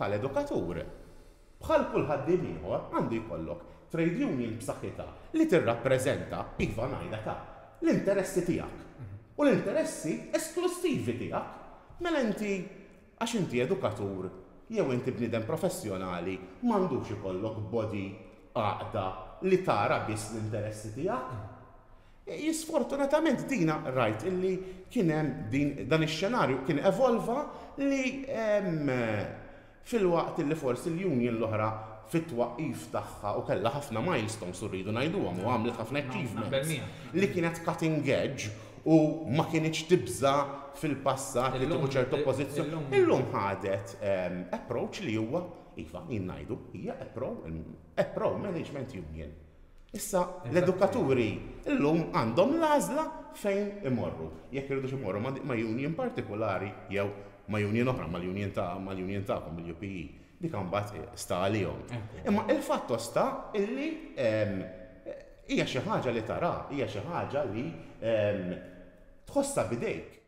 bħala edukatur, bħal kull ħaddiem ieħor, għandu jkollok trade union b'saħħitha li tirrappreżenta, iva ngħidha ta', l-interessi tiegħek. U l-interessi esklussivi tiegħek. Mela inti, għax inti edukatur jew inti bniedem professjonali, m'għandux ikollok body, għaqda, li tara biss l-interessi tiegħek. Sfortunatament dina rajt illi kien hemm din dan ix-xenarju kien evolva li filwaqt illi forsi l-union l-oħra fit-twaqqif tagħha u kellha ħafna milestones u rridu ngħiduhom u għamlet ħafna achievements li kienet cutting edge u ma kinitx tibża' fil-passat li tieħu ċertu pożizzjoni. Illum ħadet approach li huwa, iva, jien ngħidu, hija a pro management union. Issa l-edukaturi llum għandhom l-għażla fejn imorru. Jekk iridux imorru ma' union partikulari jew ma' union oħra, mal-union ta' mal-union tagħkom, il-UPE. Dik imbagħad sta għalihom. Imma il-fatto sta illi hija xi ħaġa li tara, hija xi ħaġa li tħossha b'idejk.